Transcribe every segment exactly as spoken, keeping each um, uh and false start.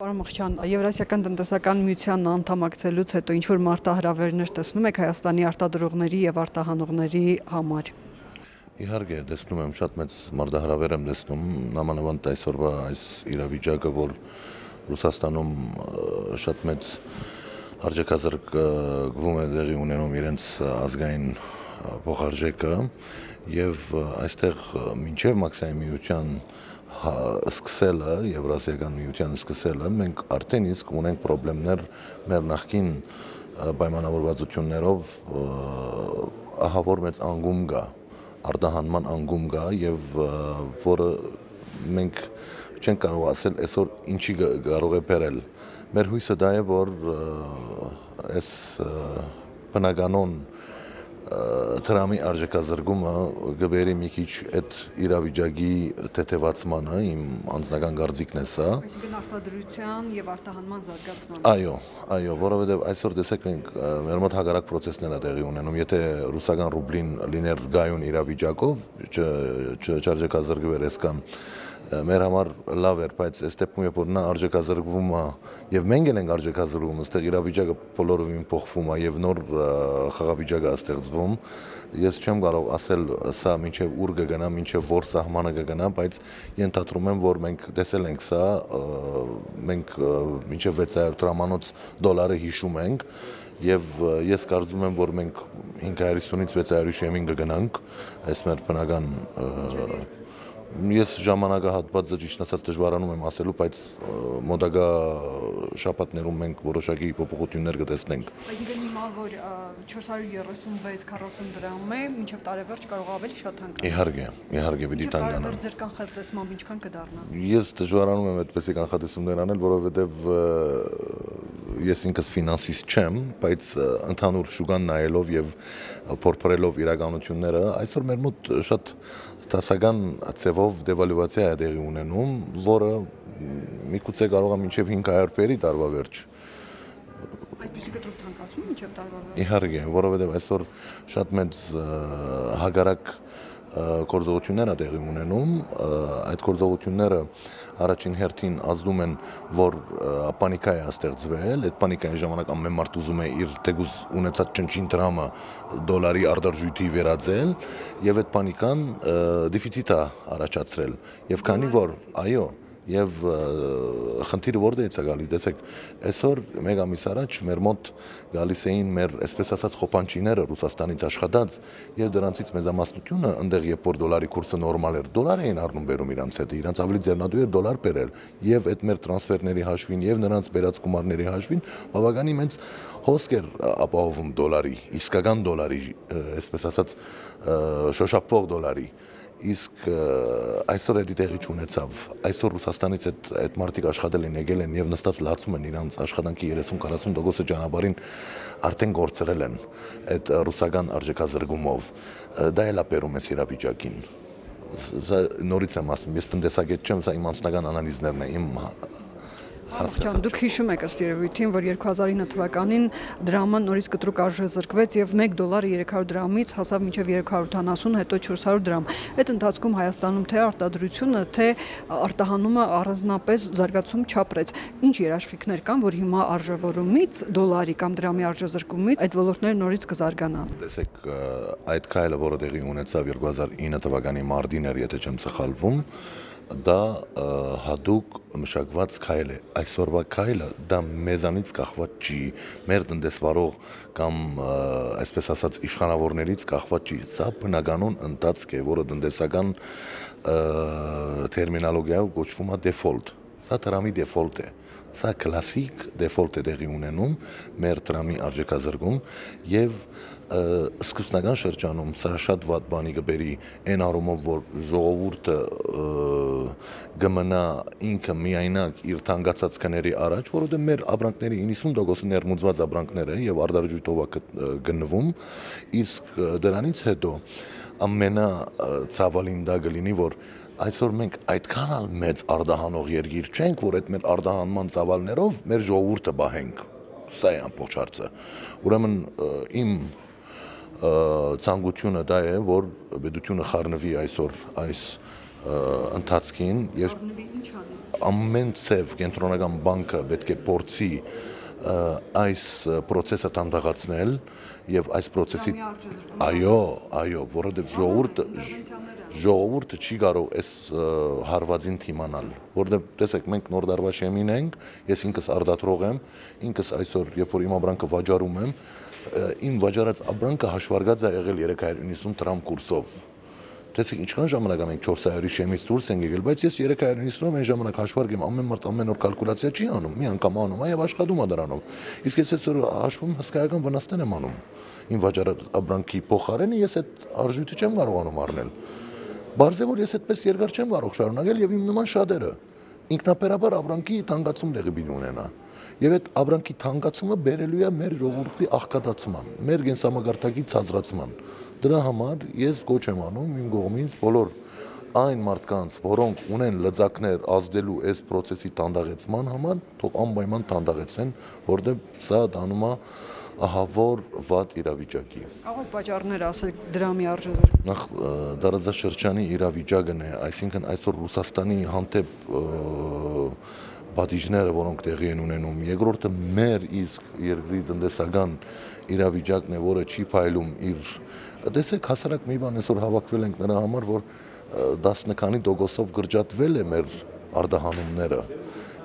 Պարոն Մխիթարյան, Եվրասիական տնտեսական միության անդամակցելուց հետո ինչ որ մարտահրավերներ տեսնում եք Հայաստանի արտադրողների եւ արտահանողների համար։ Իհարկե, տեսնում եմ, շատ մեծ մարտահրավեր եմ տեսնում, նամանավանդ այսօրվա այս իրավիճակը, որ Ռուսաստանում շատ մեծ արձակազրկվում է տեղի ունենում իրենց ազգային փոխարժեքը եւ այստեղ մինչեւ Մաքսային միության սկսելը, Եվրասիական միության սկսելը, մենք արդեն իսկ ունենք խնդիրներ մեր նախկին պայմանավորվածություններով, ահա որ մեծ անկում կա, արտահանման անկում կա եւ որը մենք չենք կարող ասել այսօր ինչի կարող է բերել։ Մեր հույսը դա է, որ այս բնականon Տրամի արձակազրկումը գբերի մի քիչ այդ իրավիճակի թեթևացմանը, իմ անձնական կարծիքն է սա։ Այսինքն արտադրության եւ արտահանման զարգացման։ Այո, այո, որովհետեւ այսօր տեսեք մենք մեր մոտ հակառակ process-ներ է տեղի ունենում, եթե ռուսական ռուբլին լիներ գայուն իրավիճակով, չարձակազրկվեր այսքան մեր համար լավ էր, բայց այս դեպքում երբ որ նա արձակազրկվում է եւ մենք էլ ենք արձակազրկվում, այստեղ իրավիճակը բոլորովին փոխվում է եւ նոր խաղավիճակ է ստեղծվում։ Ես չեմ կարող ասել սա մինչեւ ուր կգնա, մինչեւ որ սահմանը կգնա, բայց ենթադրում եմ, որ մենք տեսել ենք սա, մենք մինչեւ վեց հարյուր դրամանոց դոլարը հիշում ենք եւ ես կարծում եմ, որ մենք հինգ հարյուր հիսունից վեց հարյուր շեմին կգնանք, այս մեր բնական Ես ժամանակահատվածը ճիշտ ասած դժվարանում եմ ասելու, բայց մոտակա շաբաթներում մենք որոշակի փոփոխություններ կտեսնենք։ Այսինքն հիմա որ չորս հարյուր երեսունվեց քառասուն դրամ է, մինչև տարեվերջ կարող ավելի շատ հանգամանալ։ Իհարկե, իհարկե պիտի տանգանա։ Ձեր կանխատեսմամբ ինչքան կդառնա։ Ես դժվարանում եմ այդպեսի կանխատեսումներ անել, որովհետև ես ինքս ֆինանսիստ չեմ, բայց ընդհանուր շուկան նայելով եւ փորփրելով իրականությունները, այսօր մեր մոտ շատ տասական ծևով դեվալուացիա է տեղի ունենում, որը միգուցե կարող է մինչև հինգ հարյուր բերի տարվա վերջ։ Այդպիսի կտրուկ թանկացում մինչև տարվա վերջ։ Իհարկե, որովհետև այսօր շատ մեծ հագարակ գործողություններ է տեղի ունենում, այդ գործողությունները առաջին հերթին ազդում են, որ պանիկա է ստեղծվել, այդ պանիկայի ժամանակ ամեն մարդ ուզում է իր թեկուզ ունեցած ճնճին դրամը դոլարի արտարժույթի վերածել եւ այդ պանիկան դեֆիցիտ է առաջացրել եւ քանի որ այո եւ խնդիրը որտեղից է գալիս, տեսեք, այսօր մեկ ամիս առաջ մեր մոտ գալիս էին մեր, այսպես ասած, խոպանչիները Ռուսաստանից աշխատած եւ դրանցից մեծամասնությունը այնտեղ երբ որ դոլարի կուրսը նորմալ էր, դոլար էին առնում բերում իրանց հետ, իրանց ավելի ձեռնադու էր դոլար բերել եւ այդ մեր տրանսֆերների հաշվին եւ նրանց բերած գումարների հաշվին բավականին մեծ հոսք էր ապահովում դոլարի, իսկական դոլարի, այսպես ասած, շոշափվող դոլարի Իսկ այսօր էդի տեղի չունեցավ, այսօր Ռուսաստանից այդ այդ մարդիկ աշխատել են եկել են եւ նստած լացում են իրանց աշխատանքի երեսուն քառասուն տոկոսը ճանապարհին արդեն գործրել են այդ ռուսական արձակազրկումով, դա էլ է բերում էս իրավիճակին։ Սա նորից եմ ասում, ես տնտեսագետ չեմ, սա իմ անձնական անալիզներն են, իմ Ահա, դուք հիշում եք ըստ երևույթին, որ երկու հազար ինը թվականին դրամը նորից կտրուկ արժեզրկվեց եւ մեկ դոլարը երեք հարյուր դրամից հասավ մինչեւ երեք հարյուր ութանասուն, հետո չորս հարյուր դրամ։ Այդ ընթացքում Հայաստանում թե արտադրությունը, թե արտահանումը առանձնապես զարգացում չապրեց։ Ինչ երաշխիքներ կան, որ հիմա արժևորումից դոլարի կամ դրամի արժեզրկումից այդ ոլորտները նորից կզարգանան։ Տեսեք, այդ քայլը, որը տեղի ունեցավ երկու հազար ինը թվականի մարտին էր, եթե չեմ սխալվում, դա հատուկ մշակված քայլ է, այսօրվա քայլը դա մեզանից կախված չի, մեր տնտեսվարող կամ այսպես ասած իշխանավորներից կախված չի, սա բնականon ընթացք է, որը տնտեսական տերմինոլոգիայով կոչվում է default, սա դրամի default է, սա կլասիկ default է տեղի ունենում մեր դրամի արձակազրկում եւ սկզբնական շրջանում սա շատ վատ բանի կբերի այն առումով, որ ժողովուրդը կմնա ինքը միայնակ իր թանկացած քների առաջ, որովհետև մեր ապրանքների իննսուն տոկոսը ներմուծված ապրանքներ է եւ արտարժույթով է գտնվում, իսկ դրանից հետո ամենացավալին դա կլինի, որ այսօր մենք այդքան էլ մեծ արտահանող երկիր չենք, որ այդ մեր արտահանման ծավալներով մեր ժողովուրդը բահենք, սա է ամբողջ հարցը, ուրեմն իմ ցանկությունը դա է, որ պետությունը խառնվի այսօր այս ընթացքին եւ ամեն ցև կենտրոնական բանկը պետք է փորձի այս process-ը տանդաղացնել եւ այս process-ի այո, այո, որովհետեւ ժողովուրդը ժողովուրդը չի կարող այս հարվածին թիմանալ, որովհետեւ տեսեք մենք նոր դարվա շեմին ենք, ես ինքս արդատրող եմ, ինքս այսօր երբ որ իմ ապրանքը վաճառում եմ, իմ վաճառած ապրանքը հաշվարկած է եղել երեք հարյուր իննսուն դրամ կուրսով։ Տեսեք ինչքան ժամանակ մենք չորս հարյուրի շեմից դուրս ենք եկել, բայց ես երեք հարյուր իննսունով այն ժամանակ հաշվարկեմ ամեն մարդ ամեն օր կալկուլյացիա չի անում, մի անգամ անում է եւ աշխատում է դրանով։ Իսկ ես այսօր հաշվում հսկայական վնասներ եմ անում։ Իմ վաճառած ապրանքի փոխարենը ես այդ արժույթը չեմ կարողանում առնել։ Բարձր որ ես այդպես երկար չեմ կարող շարունակել եւ իմ նման շատերը ինքնաբերաբար ապրանքի թանկացում տեղի բին ունենա։ Եվ այդ ապրանքի թանկացումը բերելու է մեր ժողովրդի աղքատացման, մեր կենսամակարդակի ցածրացման։ Դրա համար ես գոչ եմ անում իմ կողմից բոլոր այն մարդկանց, որոնք ունեն լծակներ ազդելու այս process-ի տանդաղեցման համար, թող անպայման տանդաղեցեն, որտեղ սա դանում է ահավոր վատ իրավիճակի։ Կարող եք պատճառներ ասել դրամի արժեզրկման։ Նախ դարաձաշրջանի իրավիճակն է, այսինքն այսօր Ռուսաստանի հանդեպ պատիժները, որոնք տեղի են ունենում, երկրորդը մեր իսկ երկրի տնտեսական իրավիճակն է, որը չի փայլում իր, տեսեք հասարակ մի բան այսօր հավաքվել ենք նրա համար, որ տասը քանի տոկոսով գրջատվել է մեր արտահանումները։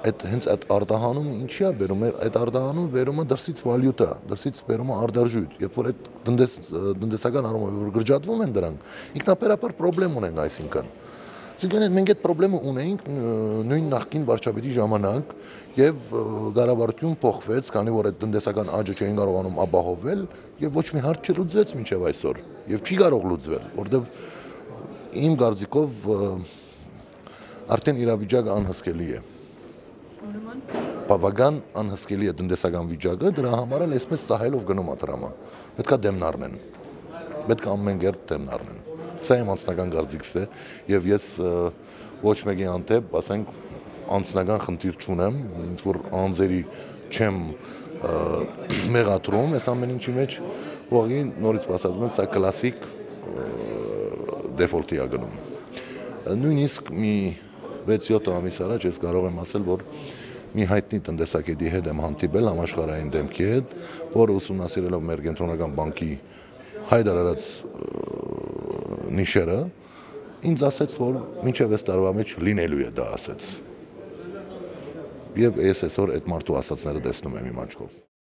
Այդ հենց այդ արտահանումը ինչի է բերում, այդ արտահանումը բերում է դրսից վալյուտա, դրսից բերում է արտարժույթ, երբ որ այդ տնտեսական առումով որ գրջատվում են դրանք, ինքնաբերաբար խնդրեմ ունենք այսինքն։ Այսինքն մենք այդ խնդրեմը ունեինք նույն նախկին վարչապետի ժամանակ եւ կառավարություն փոխվեց, քանի որ այդ տնտեսական աճը չէին կարողանում ապահովել եւ ոչ մի հարց չլուծվեց մինչեւ այսօր եւ չի կարող լուծվել, որովհետեւ իմ կարծիքով արդեն իրավիճակը անհսկելի է։ Բավական անհսկելի է տնտեսական վիճակը, դրա համար էլ այսպես սահելով գնում է դրամը։ Պետքա դեմն առնեն։ Պետք է ամեն կերպ դեմն առնեն։ Սա իմ անձնական կարծիքս է եւ ես ոչ մեկի հանդեպ, ասենք, անձնական խնդիր չունեմ, որ անձերի չեմ մեղադրում, այս ամեն ինչի մեջ ուղղակի նորից բացատրում եմ, սա կլասիկ դեֆոլտի է գնում։ Նույնիսկ մի վեց-յոթ ամիս առաջ ես կարող եմ ասել, որ մի հայտնի տնտեսագետի հետ եմ հանդիպել համաշխարհային դեմքի հետ, որը ուսումնասիրելով մեր կենտրոնական բանկի հայտարարած նիշերը, ինձ ասեց, որ մինչև այս տարվա մեջ լինելու է դա ասեց։ Եվ ես այսօր այդ մարդու ասածները տեսնում եմ իմ աչքով։